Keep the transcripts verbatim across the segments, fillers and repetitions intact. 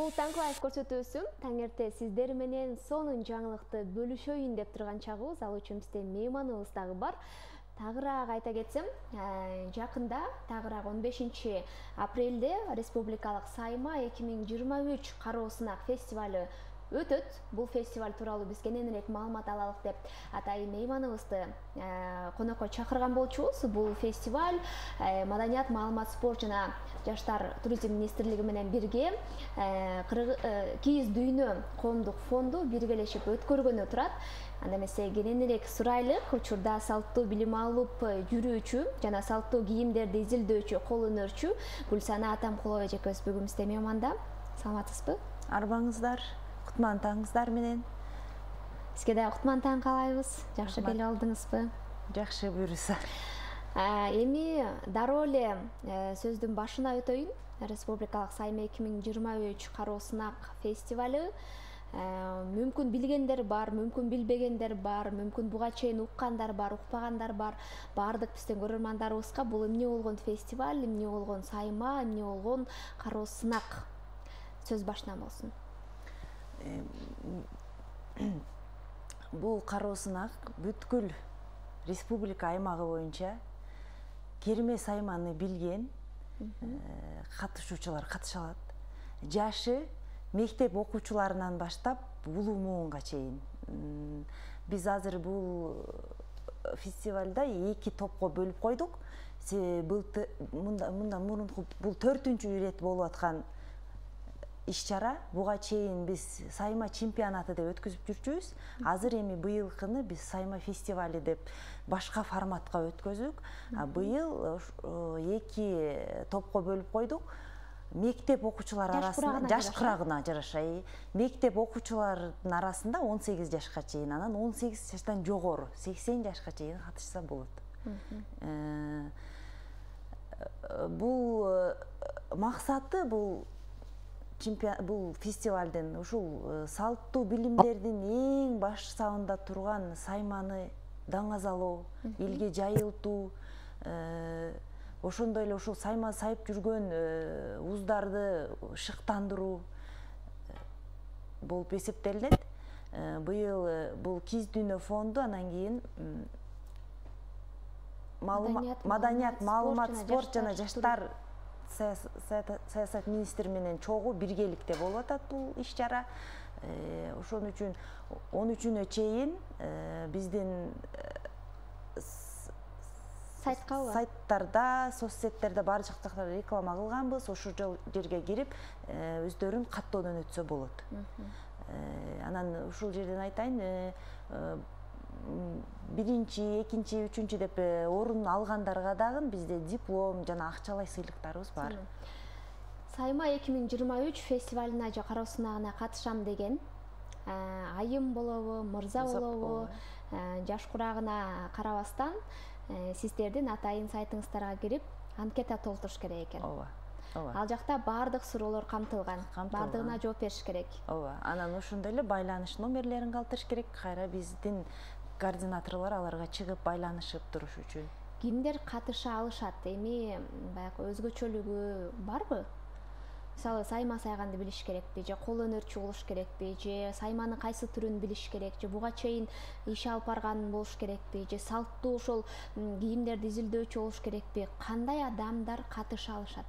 Бул Танклайф көрсөтүүсү таңерте сиздер менен сонун жаңылыкты бөлүшөйүн деп турган чагыбыз. Ал үчүн бизде мейманыбыз дагы бар. Тагыраак айта кетсем, жакында тагыраак он бешинчи апрелде Республикалык сайма эки миң жыйырма үч кароо сынак фестивалю өтөт. Бул фестиваль тууралуу биз кененирээк маалымат алалык деп атайын мейманыбызды конокко чакырган болчубуз. Бул фестиваль Маданият, маалымат, спорт жана жаштар туризм министрлиги менен бирге Кийиз дүйнө коомдук фонду биргелешип өткөргөнү турат. Анда эмесе кененирээк сурайлык учурда салттуу билим алып жүрүүчү жана салттуу кийимдерди изилдөөчү кол өнөрчү Гүлсана Атамкулова эжекебиз бүгүн бизде мейманда. Саламатсызбы? Арбаңыздар, кутман таңыңыздар менен. Сизге да кутман таң каалайбыз. Жакшы келип алдыңызбы? Жакшы, буюрса. Эми дароо эле сөздүн башына өтөйүн. Республикалык сайма эки миң жыйырма үч кароо сынак фестивалю. Мүмкүн билгендер бар, мүмкүн билбегендер бар, мүмкүн буга чейин уккандар бар, укпагандар бар. Бардык биздин көрөрмандарыбызга бул эмне болгон фестиваль, эмне болгон сайма, эмне болгон кароо сынак? Сөз башынан болсун. Бул кароо сынак бүткүл республика аймагы боюнча керме сайманы билген катышуучулар катыша алат. Жашы мектеп окуучуларынан баштап улуу муунга чейин. Биз азыр бул фестивалда эки топко бөлүп койдук. Мындан мурунку бул төртүнчү ирет болуп аткан иш-чара. Буга чейин биз сайма чемпионаты деп өткөзүп жүрчүбүз. Азыр эми быйылкыны биз сайма фестивали деп башка форматка өткөздүк. Быйыл эки топко бөлүп койдук. Мектеп окуучулар арасында жаш курагына жараша. Мектеп окуучулардын арасында он сегиз жашка чейин, анан он сегиз жаштан жогору сексен жашка чейин катышса болот. Бул максаты бул бул фестивалдын ушул салттуу билимдердин эң баш сабында турган сайманы даңазалоо, элге жайылтуу, ошондой эле ушул сайма сайып жүргөн уздарды шыктандыруу болуп эсептелинет. Быйыл бул Кийиз дүйнө фонду, анан кийин Маданият, маалымат, спорт жана жаштар саясат министри менен чогуу биргеликте болуп атат бул иш-чара. Ошон үчүн он үчүнө чейин биздин сайттарда, соцсеттерде бар жактарда реклама кылганбыз. Ошол жерге кирип өздөрүн каттоодон өтсө болот. Анан ушул жерден айтайын, биринчи, экинчи, үчүнчү деп орун алгандарга дагы бизде диплом жана акчалай сыйлыктарыбыз бар. Сайма эки миң жыйырма үч фестивалына же кароо сынагына катышам деген айым болобу, мырза болобу, жаш курагына карабастан сиздердин атайын сайтыңыздарга кирип анкета толтуруш керек экен. Ооба. Ал жакта баардык суроолор камтылган. Бардыгына жооп бериш керек. Ооба. Анан ошондой эле байланыш номерлерин калтырыш керек. Кайра биздин координаторлор аларга чыгып байланышып туруш үчүн. Кимдер катыша алышат? Эми баягы өзгөчөлүгү барбы? Мисалы, сайма сайганды билиш керекпи, же кол өнөрчү болуш керекпи, же сайманын кайсы түрүн билиш керек, же буга чейин иш алып барган болуш керекпи, же салттуу ошол кийимдерди изилдөөчү болуш керекпи? Кандай адамдар катыша алышат?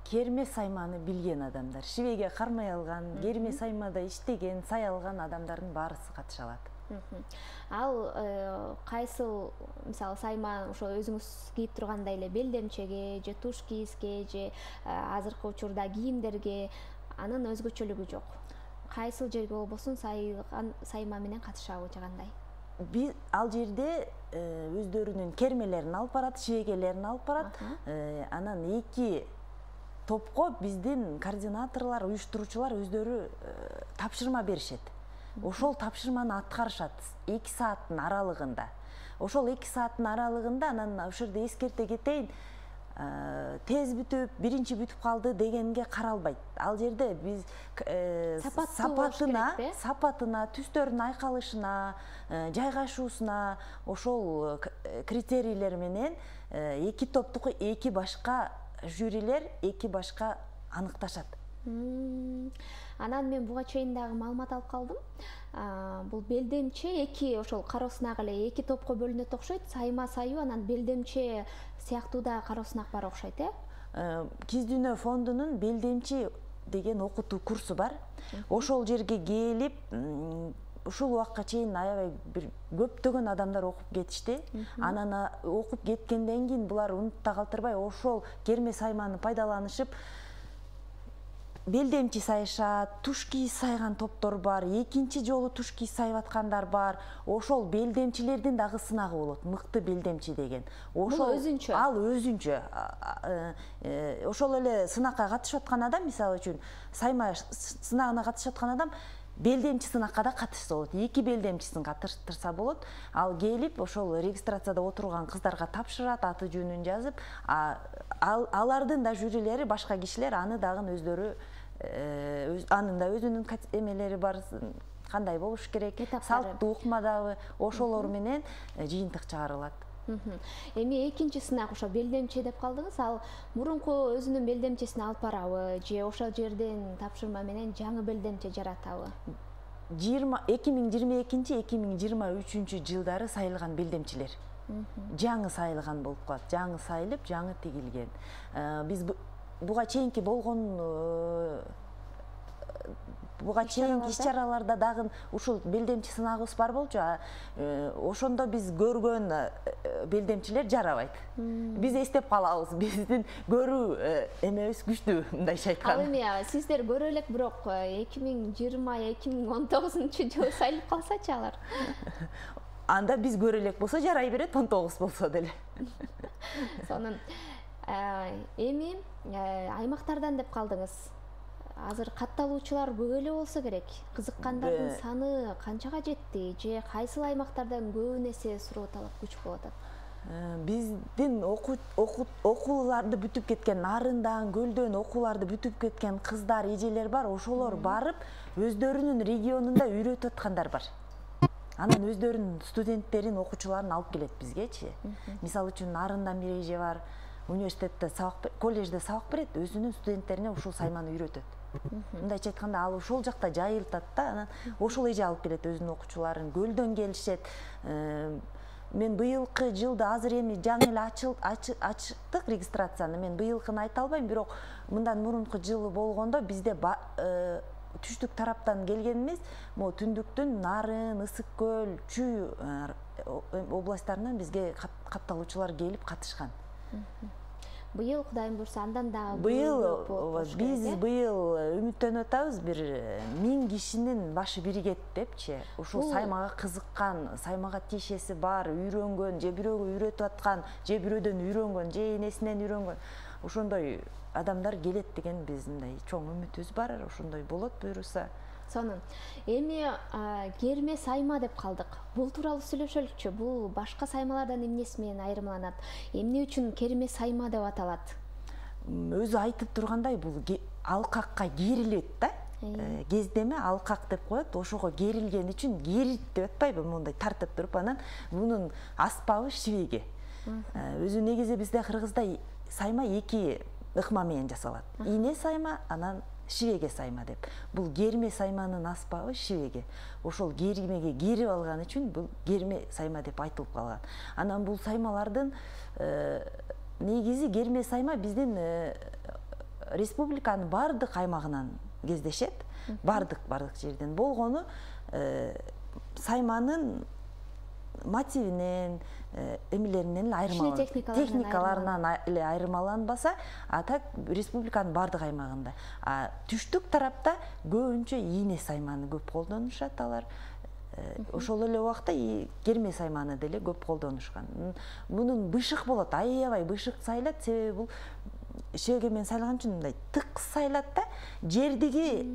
Керме сайманы билген адамдар, шибеге кармай алган, керме саймада иштеген, сай алган адамдардын баарысы катыша алат. Ал кайсыл, мисалы, сайма ошо өзүңүз кийип тургандай эле белдемчеге, же туш кийизге, же азыркы учурда кийимдерге анын өзгөчөлүгү жок. Кайсыл жерге болбосун сайма менен катышабы же кандай? Биз ал жерде өздөрүнүн кермелерин алып барат, шибегелерин алып барат. Анан эки топко биздин координаторлор, уюштуруучулар өздөрү тапшырма беришет. Ошол тапшырманы аткарышат эки сааттын аралыгында. Ошол эки сааттын аралыгында анан ошол жерде эскерте кетейин, тез бүтүп, биринчи бүтүп калды дегенге каралбайт. Ал жерде биз сапатына, сапатына, түстөрүнүн айкалышына, жайгашуусуна, ошол критерийлер менен эки топтуку эки башка жюрилер эки башка аныкташат. Анан мен буга чейин дагы маалымат алып калдым. Бул белдемче эки ошол кароо сынак эле эки топко бөлүнөт окшойт. Сайма саюу анан белдемче сыяктуу да кароо сынак бар окшойт, э? Киз дүйнө фондунун белдемчи деген окутуу курсу бар. Ошол жерге келип, ушул убакка чейин аябай бир көптөгөн адамдар окуп кетишти. Анан окуп кеткенден кийин булар унутта калтырбай ошол керме сайманы пайдаланышып белдемчи сайышат, туш кийиз сайган топтор бар, экинчи жолу туш кийиз сайып аткандар бар. Ошол белдемчилердин дагы сынагы болот, мыкты белдемчи деген. Ошол өзүнчө. Ал өзүнчө. Ошол эле сынакка катышып аткан адам, мисалы үчүн, сайма сынагына катышып аткан адам белдемчи сынакка да катышса болот. Эки белдемчисин катыштырса болот. Ал келип, ошол регистрацияда отурган кыздарга тапшырат, аты жөнүн жазып, алардын да жюрилери, башка кишилер аны дагы өздөрү анын да өзүнүн эмелери бар, кандай болуш керек, салттуу укмадагы, ошолор менен жыйынтык чыгарылат. Эми экинчи сынак ошо белдемчи деп калдыңыз, ал мурунку өзүнүн белдемчесин алып барабы же ошол жерден тапшырма менен жаңы белдемче жаратабы? эки миң жыйырма экинчи эки миң жыйырма үчүнчү жылдары сайылган белдемчилер жаңы сайылган болуп калат, жаңы сайылып, жаңы тигилген. Биз буга чейинки болгон буга чейинки иш-чараларда дагы ушул белдемчи сынагыбыз бар болчу. Ошондо биз көргөн белдемчилер жарабайт. Биз эстеп калабыз, биздин көрүү эмебиз күчтүү, мындайча айтканда. Ал эми сиздер көрө элек, бирок эки миң жыйырма эки миң он тогузунчу жылы сайылып калсачы алар? Анда биз көрө элек болсо жарай берет, он тогуз болсо деле. Сонун эми аймактардан деп калдыңыз. Азыр катталуучулар көп эле болсо керек. Кызыккандардын саны канчага жетти же кайсыл аймактардан көп нерсе суроо талап күч болуп атат? Биздин окууларды бүтүп кеткен, Нарындан, Көлдөн окууларды бүтүп кеткен кыздар, эжелер бар. Ошолор барып, өздөрүнүн регионунда үйрөтүп аткандар бар. Анан өздөрүнүн студенттерин, окуучуларын алып келет бизгечи. Мисалы үчүн Нарындан бир эже бар, университетте сабак, коллежде сабак берет, өзүнүн студенттерине ушул сайманы үйрөтөт. Мындайча айтканда, ал ошол жакта жайылтат да, анан ошол эже алып келет өзүнүн окуучуларын. Көлдөн келишет. Мен быйылкы жылда азыр эми жаңы эле ачтык регистрацияны. Мен быйылкыны айта албайм, бирок мындан мурунку жылы болгондо бизде түштүк тараптан келген эмес, могу түндүктүн Нарын, Ысык көл, Чүй областтарынан бизге катталуучулар келип катышкан. Быйыл Кудайым буйрса андан дагы быйыл биз быйыл үмүттөнүп атабыз, бир миң кишинин башы биригет депчи. Ушул саймага кызыккан, саймага тиешеси бар, үйрөнгөн, же бирөөгө үйрөтүп аткан, же бирөөдөн үйрөнгөн, же энесинен үйрөнгөн. Ошондой адамдар келет деген биздин мындай чоң үмүтүбүз бар. Ошондой болот буйруса. Сонун. Эми керме сайма деп калдык. Бул тууралуу сүйлөшөлүкчү. Бул башка саймалардан эмнеси менен айырмаланат? Эмне үчүн керме сайма деп аталат? Өзү айтып тургандай, бул алкакка керилет да. Кездеме алкак деп коет. Ошого керилген үчүн керит деп атпайбы, мындай тартып туруп, анан мунун аспабы шивеге. Өзү негизи бизде Кыргызда сайма эки ыкма менен жасалат. Ийне сайма, анан шивеге сайма деп. Бул керме сайманын аспабы шивеге. Ошол кермеге керип алган үчүн бул керме сайма деп айтылып калган. Анан бул саймалардын негизи керме сайма биздин республиканын бардык аймагынан кездешет. Бардык бардык жерден болгону сайманын мотивинен, эмелеринен айырмаланат. Техникаларынан эле айырмаланбаса, а так республиканын бардык аймагында. Түштүк тарапта көбүнчө ийне сайманы көп колдонушат алар. Ошол эле убакта керме сайманы деле көп колдонушкан. Мунун бышык болот, аябай бышык сайлат, себеби бул шевеге менен сайлаган үчүн мындай тык сайлат да, жердиги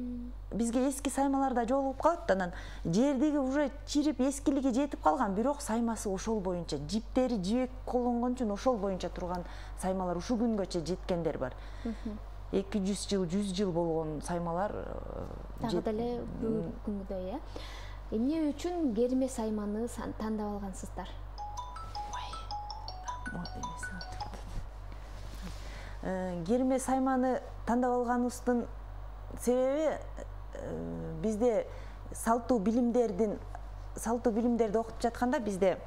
бизге эски саймаларда жолугуп калат, анан жердиги уже чирип эскилиги жетип калган, бирок саймасы ошол боюнча, жиптери жибек колдонгон үчүн ошол боюнча турган саймалар ушу күнгөчө жеткендер бар. эки жүз жыл, жүз жыл болгон саймалар дагы деле бүгүнкү күнгүдөй, э? Эмне үчүн керме сайманы тандап алгансыздар? Керме сайманы тандап алганыбыздын себеби бизде салттуу билимдердин салттуу билимдерди окутуп жатканда бизде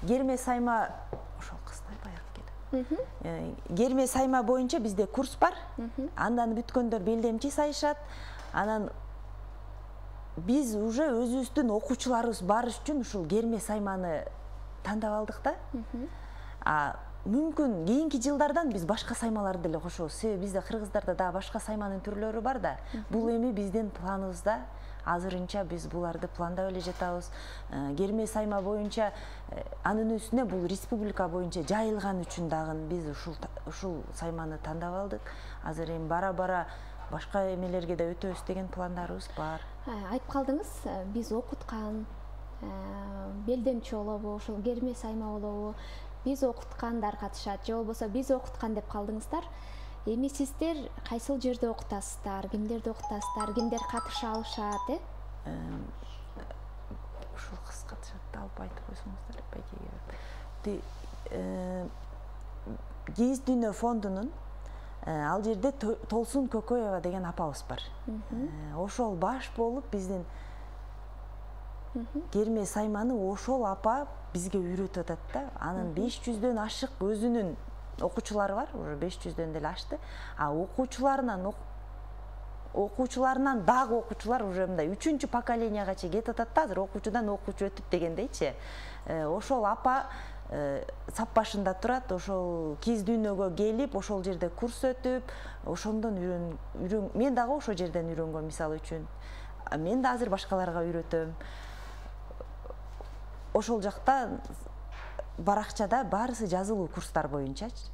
керме сайма ошол кыздай баягы келе керме сайма боюнча бизде курс бар. Андан бүткөндөр белдемчи сайышат. Анан биз уже өзүбүздүн окуучуларыбыз барыш үчүн ушул керме сайманы тандап алдык да. А мүмкүн кийинки жылдардан биз башка саймаларды деле кошобуз. Себеби бизде кыргыздарда дагы башка сайманын түрлөрү бар да. Бул эми биздин планыбызда. Азырынча биз буларды пландап эле жатабыз. Керме сайма боюнча анын үстүнө бул республика боюнча жайылган үчүн дагы биз ушул ушул сайманы тандап алдык. Азыр эми бара-бара башка эмелерге да өтөбүз деген пландарыбыз бар. Айтып калдыңыз, биз окуткан белдемчи болобу, ушул керме сайма болобу, биз окуткандар катышат же болбосо биз окуткан деп калдыңыздар. Эми сиздер кайсыл жерде окутасыздар, кимдерди окутасыздар, кимдер катыша алышат, э? Ушул кыз катышат да, алып айтып койсоңуздар байкеге. Кийиз дүйнө фондунун ал жерде Толсун Көкөева деген апабыз бар. Ошол баш болуп биздин керме сайманы ошол апа бизге үйрөтүп атат да. Анын беш жүздөн ашык өзүнүн окуучулары бар, уже беш жүздөн деле ашты. А окуучуларынан окуучуларынан дагы окуучулар уже мындай үчүнчү поколенияга чейин кетип атат да, азыр окуучудан окуучу өтүп дегендейчи. Ошол апа сап башында турат, ошол кийиз дүйнөгө келип, ошол жерде курс өтүп, ошондон үйрөн, мен дагы ошол жерден үйрөнгөм мисалы үчүн. Мен да азыр башкаларга үйрөтөм. Ошол жакта баракчада баарысы жазылуу курстар боюнчачы.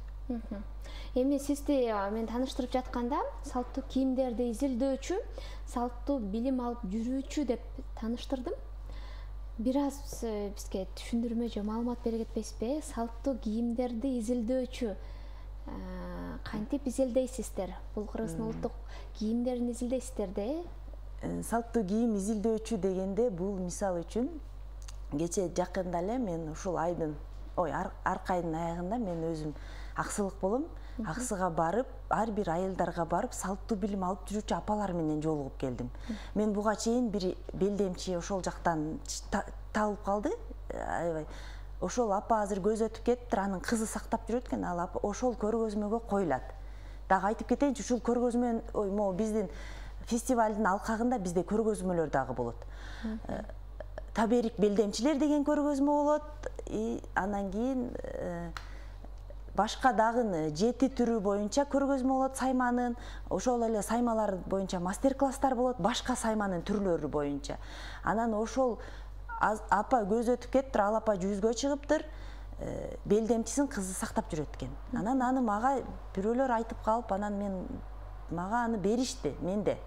Эми сизди мен тааныштырып жатканда салттуу кийимдерди изилдөөчү, салттуу билим алып жүрүүчү деп тааныштырдым. Бир аз бизге түшүндүрмө же маалымат бере кетпейсизби? Салттуу кийимдерди изилдөөчү кантип изилдейсиздер? Бул Кыргыздын улуттук кийимдерин изилдейсиздер да, э? Салттуу кийим изилдөөчү дегенде бул мисалы үчүн кече жакында эле мен ушул айдын ой аркы айдын аягында мен өзүм аксылык болом. Аксыга барып, ар бир айылдарга барып, салттуу билим алып жүрүүчү апалар менен жолугуп келдим. Мен буга чейин бир белдемчи ошол жактан табылып калды. Аябай. Ошол апа азыр көз өтүп кетиптир, анын кызы сактап жүрөт экен, ал апа ошол көргөзмөгө коюлат. Дагы айтып кетейинчи, ушул көргөзмөнүн, ой, могу биздин фестивалдын алкагында бизде көргөзмөлөр дагы болот. Таберик белдемчилер деген көргөзмө болот. Анан кийин башка дагы жети түрү боюнча көргөзмө болот сайманын. Ошол эле саймалар боюнча мастер-класстар болот, башка сайманын түрлөрү боюнча. Анан ошол апа көз өтүп кетиптир, ал апа жүзгө чыгыптыр, белдемчисин кызы сактап жүрөт экен. Анан аны мага бирөөлөр айтып калып, анан мен мага аны беришти менде.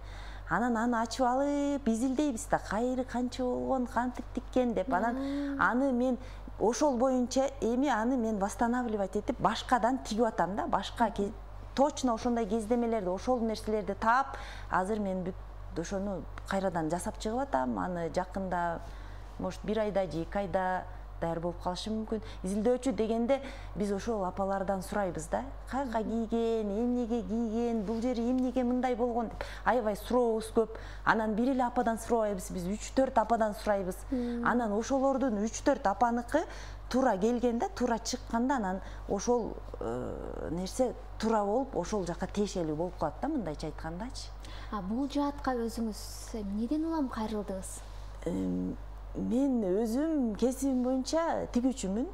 Анан аны ачып алып изилдейбиз да, кайры канча болгон, кантип тиккен деп. Анан аны мен ошол боюнча эми аны мен восстанавливать этип башкадан тигип атам да, башка точно ошондой кездемелерди, ошол нерселерди таап, азыр мен бүт ошону кайрадан жасап чыгып атам. Аны жакында, может, бир айда же эки айда даяр болуп калышы мүмкүн. Изилдөөчү дегенде биз ошол апалардан сурайбыз да, кайка кийген, эмнеге кийген, бул жери эмнеге мындай болгон деп. Аябай сурообуз көп. Анан бир эле ападан сурабайбыз, биз үч төрт ападан сурайбыз. Анан ошолордун үч төрт апаныкы туура келгенде, туура чыкканда анан ошол нерсе туура болуп, ошол жака тиешелүү болуп калат да, мындайча айткандачы. А бул жаатка өзүңүз эмнеден улам кайрылдыңыз? Мен өзүм кесибим боюнча тигүүчүмүн.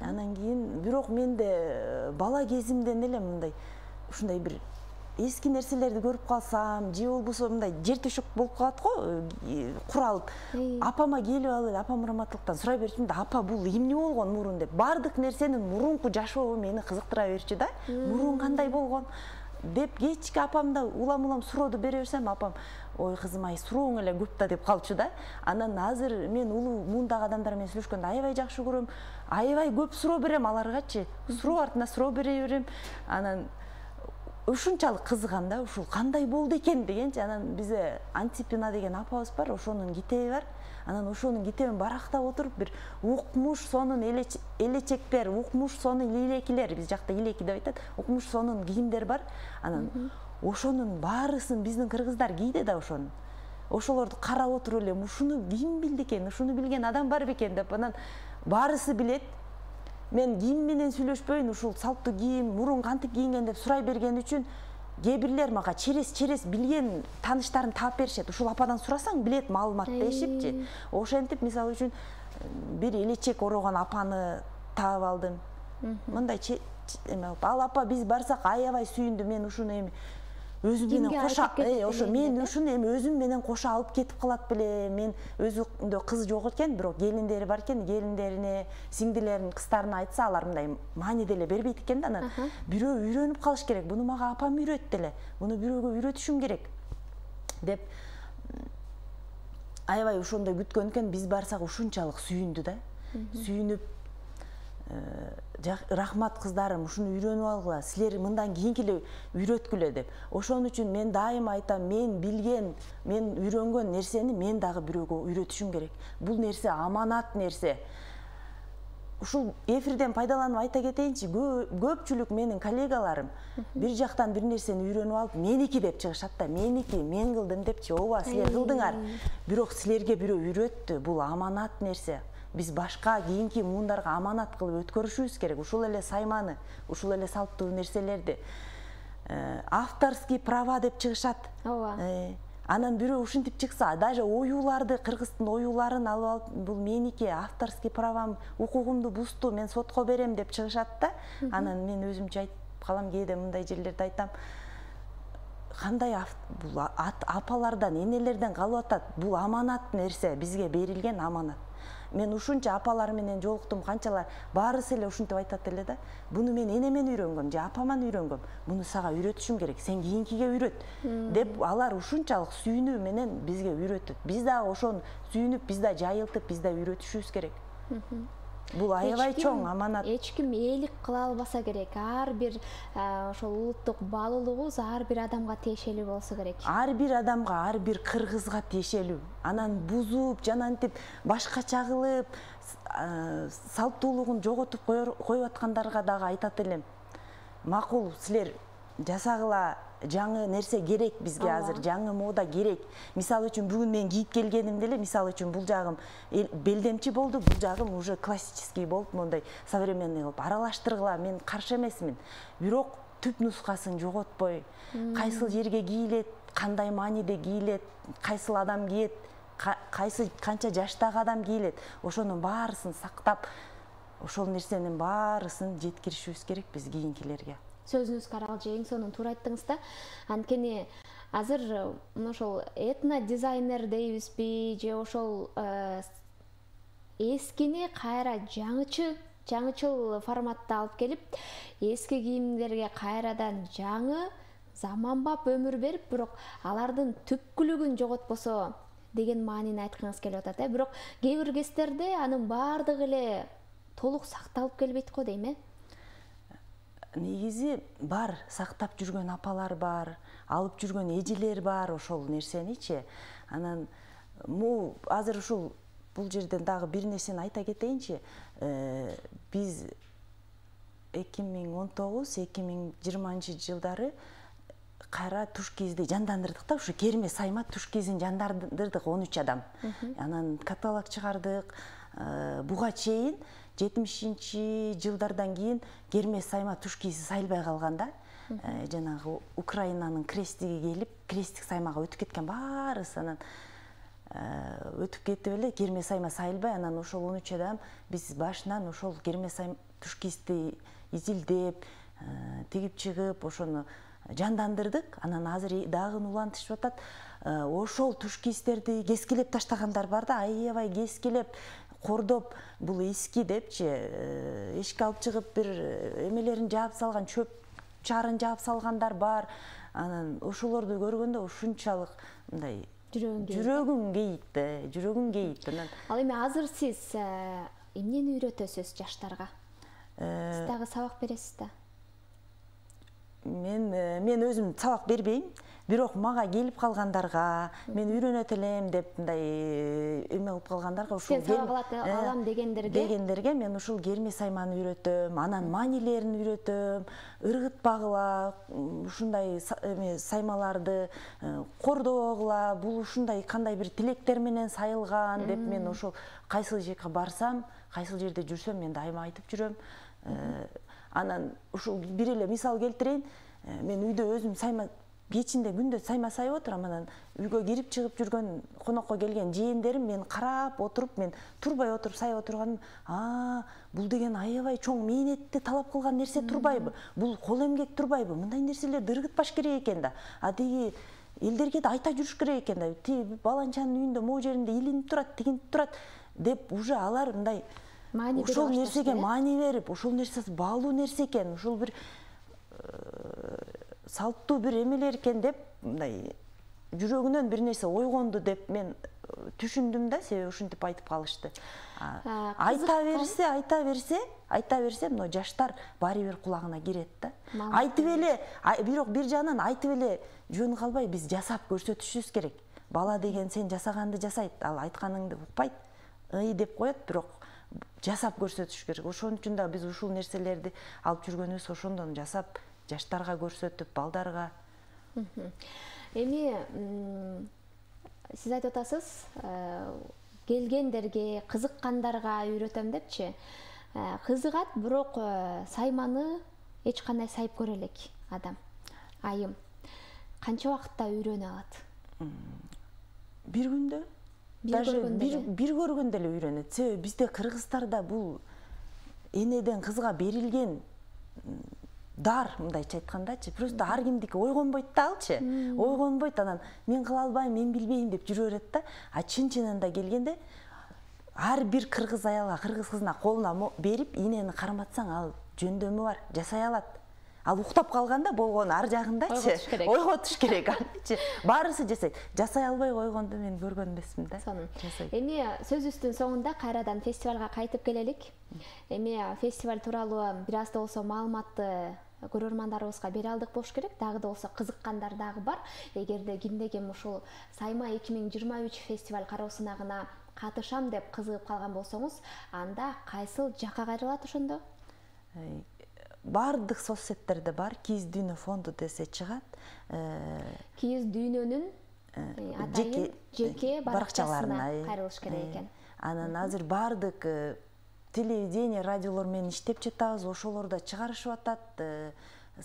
Анан кийин бирок менде бала кезимден эле мындай ушундай бир эски нерселерди көрүп калсам, же болбосо мындай жер төшөк болуп калат го, куралып. Апама келип алып, апам раматтылыктан сурай берчүмүн да, апа бул эмне болгон мурун деп. Бардык нерсенин мурунку жашообу мени кызыктыра берчү да. Мурун кандай болгон деп кечки апамда улам-улам сурооду бере берсем, апам ой кызым, ай сурооң эле көп да деп калчу да. Анан азыр мен улуу муундагы адамдар менен сүйлөшкөндө аябай жакшы көрөм. Аябай көп суроо берем аларгачы. Суроо артына суроо бере берем. Анан ушунчалык кызыгам да, ушул кандай болду экен дегенчи. Анан бизде Антипина деген апабыз бар, ошонун китеби бар. Анан ошонун китебин барактап отуруп, бир укмуш сонун элечектер, укмуш сонун илекилер, биз жакта илеки деп айтат, укмуш сонун кийимдер бар. Анан ошонун баарысын биздин кыргыздар кийди да ошону. Ошолорду карап отуруп элем, ушуну ким билди экен, ушуну билген адам бар бекен деп анан баарысы билет. Мен ким менен сүйлөшпөйүн, ушул салттуу кийим, мурун кантип кийинген деп сурай берген үчүн кээ бирлер мага черес-черес билген тааныштарын таап беришет. Ушул ападан сурасаң билет маалымат дешипчи. Ошентип мисалы үчүн бир элечек орогон апаны таап алдым. Мындай ал апа биз барсак аябай сүйүндү, мен ушуну эми өзүм менен коша, ошо мен ушуну эми өзүм менен коша алып кетип калат беле. Мен өзүндө кыз жок экен, бирок келиндери бар экен, келиндерине, сиңдилерин, кыздарына айтса, алар мындай маани деле бербейт экен да. Анан бирөө үйрөнүп калыш керек. Буну мага апам үйрөттү эле. Буну бирөөгө үйрөтүшүм керек деп аябай ошондой күткөн экен. Биз барсак ушунчалык сүйүндү да. Сүйүнүп, рахмат кыздарым, ушуну үйрөнүп алгыла, силер мындан кийинки эле үйрөткүлө деп. Ошон үчүн мен дайыма айтам, мен билген, мен үйрөнгөн нерсени мен дагы бирөөгө үйрөтүшүм керек. Бул нерсе аманат нерсе. Ушул эфирден пайдаланып айта кетейинчи, көпчүлүк менин коллегаларым бир жактан бир нерсени үйрөнүп алып, меники деп чыгышат да, меники, мен кылдым депчи. Ооба, силер кылдыңар. Бирок силерге бирөө үйрөттү, бул аманат нерсе. Биз башка кийинки муундарга аманат кылып өткөрүшүбүз керек. Ушул эле сайманы, ушул эле салттуу нерселерди. Авторский права деп чыгышат. Ооба. Анан бирөө ушинтип чыкса, даже оюуларды, кыргыздын оюуларын алып алып, бул меники, авторский правам, укугумду бузду, мен сотко берем деп чыгышат да. Анан мен өзүмчө айтып калам, кээде мындай жерлерде айтам. Кандай бул апалардан, энелерден калып атат? Бул аманат нерсе, бизге берилген аманат. Мен ушунча апалар менен жолуктум, канчалар баарысы эле ушинтип айтат эле да. Буну мен энемен үйрөнгөм, же апаман үйрөнгөм. Буну сага үйрөтүшүм керек, сен кийинкиге үйрөт деп алар ушунчалык сүйүнүү менен бизге үйрөтөт. Биз дагы ошону сүйүнүп, биз да жайылтып, биз да үйрөтүшүбүз керек. Бул аябай чоң аманат. Эч ким ээлик кыла албаса керек. Ар бир ошол улуттук баалуулугубуз ар бир адамга тиешелүү болсо керек. Ар бир адамга, ар бир кыргызга тиешелүү. Анан бузуп, жанантип, башкача кылып, салттуулугун жоготуп коюп аткандарга дагы айтат элем. Макул, силер жасагыла, жаңы нерсе керек бизге азыр, жаңы мода керек. Мисалы үчүн бүгүн мен кийип келгенимде эле, мисалы үчүн бул жагым белдемчи болду, бул жагым уже классический болуп, мондай современный кылып аралаштыргыла, мен каршы эмесмин. Бирок түп нускасын жоготпой, кайсыл жерге кийилет, кандай мааниде кийилет, кайсыл адам кийет, кайсы канча жаштагы адам кийилет, ошонун баарысын сактап, ошол нерсенин баарысын жеткиришибиз керек биз кийинкилерге. Сөзүңүзгө аралжы эң сонун туура айттыңыз да. Анткени азыр ошол этно дизайнер дейбизби, же ошол эскини кайра жаңычы, жаңычыл форматта алып келип, эски кийимдерге кайрадан жаңы, заманбап өмүр берип, бирок алардын түпкүлүгүн жоготпосо деген маанини айткыңыз келип атат. Бирок кээ бир кездерде анын баардыгы эле толук сакталып келбейт го дейм, э? Негизи бар, сактап жүргөн апалар бар, алып жүргөн эжелер бар ошол нерсеничи. Анан му азыр ушул бул жерден дагы бир нерсени айта кетейинчи. Биз эки миң он тогуз эки миң жыйырманчы жылдары кайра туш кийизди жандандырдык да, ушу Керме Сайма туш кийизин жандандырдык он үч адам. Анан каталог чыгардык. Буга чейин жетимишинчи жылдардан кийин Керме Сайма туш кийизи сайылбай калган да. Жанагы Украинанын крестиги келип, крестик Саймага өтүп кеткен баарысы. Анан өтүп кетип эле Керме Сайма сайылбай, анан ошол он үч адам биз башынан ошол Керме Сайма туш кийизди изилдеп, тигип чыгып, ошону жандандырдык. Анан азыр дагы улантышып атат. Ошол туш кийиздерди кескилеп таштагандар бар да, аябай кескилеп, кордоп, бул эски депчи, эшикке алып чыгып бир эмелерин жаап салган, чөп чарын жаап салгандар бар. Анан ошолорду көргөндө ушунчалык мындай жүрөгүң кейийт да, жүрөгүң кейийт. Анан ал эми азыр сиз эмнени үйрөтөсүз жаштарга? Сиз дагы сабак бересиз да? мен мен өзүм сабак бербейм, бирок мага келип калгандарга, мен үйрөнөт элем деп мындай эме кылып калгандарга ушул сабак алам дегендерге дегендерге мен ушул керме сайманы үйрөтөм, анан маанилерин үйрөтөм, ыргытпагыла, ушундай эме саймаларды кордогула, бул ушундай кандай бир тилектер менен сайылган деп мен ошол кайсыл жака барсам, кайсыл жерде жүрсөм мен дайыма айтып жүрөм. Анан ушул бир эле мисал келтирейин, мен үйдө өзүм сайма кечинде күндө сайма сайып отурам, анан үйгө кирип чыгып жүргөн конокко келген жээндерим мен карап отуруп, мен турбай отуруп сайып отурганым, а бул деген аябай чоң мээнетти талап кылган нерсе турбайбы, бул кол эмгек турбайбы, мындай нерселерди ыргытпаш керек экен да, а тиги элдерге да айта жүрүш керек экен да, тиги баланчанын үйүндө могу жеринде илинип турат, тигинип турат деп уже алар мындай ошол нерсеге маани берип, ошол нерсе баалуу нерсе экен, ушул бир салттуу бир эмелер экен деп мындай жүрөгүнөн бир нерсе ойгонду деп мен түшүндүм да, себеби ушинтип айтып калышты. Айта берсе, айта берсе, айта берсе, мына жаштар баары бир кулагына кирет да. Айтып эле, бирок бир жагынан айтып эле жөн калбай биз жасап көрсөтүшүбүз керек. Бала деген сен жасаганды жасайт, ал айтканыңды укпайт, ый деп коет, бирок жасап көрсөтүш керек. Ошон үчүн да биз ушул нерселерди алып жүргөнүбүз ошондон жасап жаштарга көрсөтүп, балдарга. Эми сиз айтып атасыз, келгендерге, кызыккандарга үйрөтөм депчи. Кызыгат, бирок сайманы эч кандай сайып көрө элек адам, айым. Канча убакытта үйрөнө алат? Бир күндө. Даже бир көргөндө эле үйрөнөт. Себеби бизде кыргыздарда бул энеден кызга берилген дар, мындайча айткандачы, просто ар кимдики ойгонбойт да алчы. Ойгонбойт, анан мен кыла албайм, мен билбейм деп жүрө берет да. А чын-чынында келгенде ар бир кыргыз аялга, кыргыз кызына колуна берип, инени карматсаң ал жөндөмү бар, жасай алат. Ал уктап калганда болгону ар жагындачы. Ойготуш керек. Баарысы жасайт. Жасай албай койгонду мен көргөн эмесмин да. Эми сөзүбүздүн соңунда кайрадан фестивалга кайтып келелик. Эми фестиваль тууралуу бир аз да болсо маалыматты көрөрмандарыбызга бере алдык болуш керек. Дагы да болсо кызыккандар дагы бар. Эгерде кимде ким ушул Сайма эки миң жыйырма үч фестиваль кароо сынагына катышам деп кызыгып калган болсоңуз, анда кайсыл жакка кайрылат ошондо? Бардык соцсеттерде бар, Кииз Дүйнө фонду десе чыгат. Кииз Дүйнөнүн атайын жеке баракчасына кайрылыш керек экен. Анан азыр бардык телевидение, радиолор менен иштеп жатабыз, ошолордо чыгарышып атат,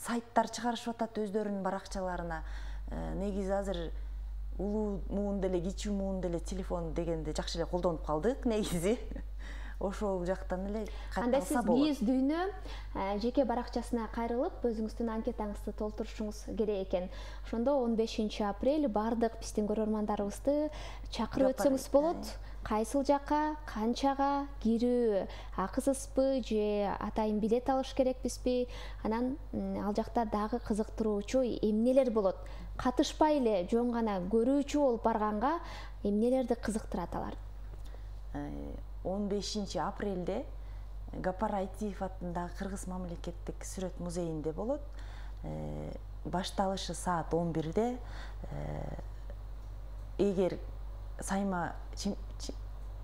сайттар чыгарышып атат өздөрүнүн баракчаларына. Негизи азыр улуу муун деле, кичүү муун деле телефон дегенди жакшы эле колдонуп калдык негизи. Ошол жактан эле кайталса болот. Анда сиз Кииз Дүйнө жеке баракчасына кайрылып, өзүңүздүн анкетаңызды толтурушуңуз керек экен. Ошондо он бешинчи апрель бардык биздин көрөрмандарыбызды чакырып өтсөңүз болот. Кайсыл жакка, канчага, кирүү акысызбы же атайын билет алыш керекпизби? Анан ал жакта дагы кызыктыруучу эмнелер болот? Катышпай эле жөн гана көрүүчү болуп барганга эмнелерди кызыктырат алар? он бешинчи апрелде Гапар Айтиев атындагы Кыргыз мамлекеттик сүрөт музейинде болот. Башталышы саат он бирде. Эгер сайма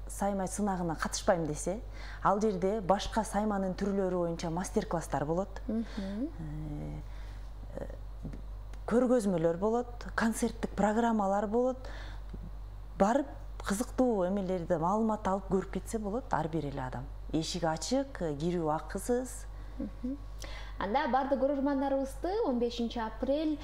сайма сынагына катышпайм десе, ал жерде башка сайманын түрлөрү боюнча мастер-класстар болот. Көргөзмөлөр болот, концерттик программалар болот. Барып кызыктуу эмелерди маалымат алып көрүп кетсе болот ар бир эле адам. Эшик ачык, кирүү акысыз. Анда бардык көрөрмандарыбызды он бешинчи апрель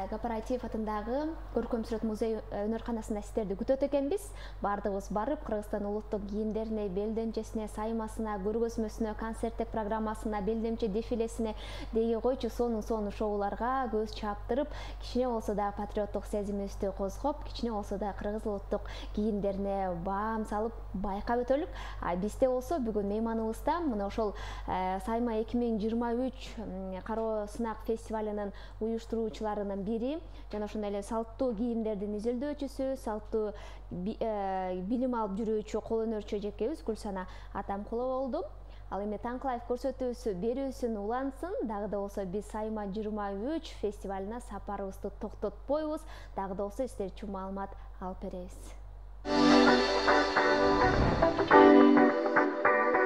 Гапар Айтиев атындагы Көркөм сүрөт музей өнөрканасында сиздерди күтөт экенбиз. Бардыгыбыз барып, Кыргызстан улуттук кийимдерине, белдемчесине, саймасына, көргөзмөсүнө, концерттик программасына, белдемче дефилесине деги койчу сонун-сонун шоуларга көз чаптырып, кичине болсо да патриоттук сезимибизди козгоп, кичине болсо да кыргыз улуттук кийимдерине баам салып байкап өтөлүк. А бизде болсо бүгүн мейманыбызда мына ошол Сайма эки миң жыйырма үч кароо сынак фестивалынын уюштуруучуларынын бири жана ошондой эле салттуу кийимдердин изилдөөчүсү, салттуу билим алып жүрүүчү кол өнөрчү эжекебиз Гүлсана Атамкулова болду. Ал эми Таңкы Лайф көрсөтүүсү берүүсүн улансын. Дагы да болсо биз Сайма жыйырма үч фестивалына сапарыбызды токтотпойбуз. Дагы да болсо сиздер үчүн маалымат алып беребиз.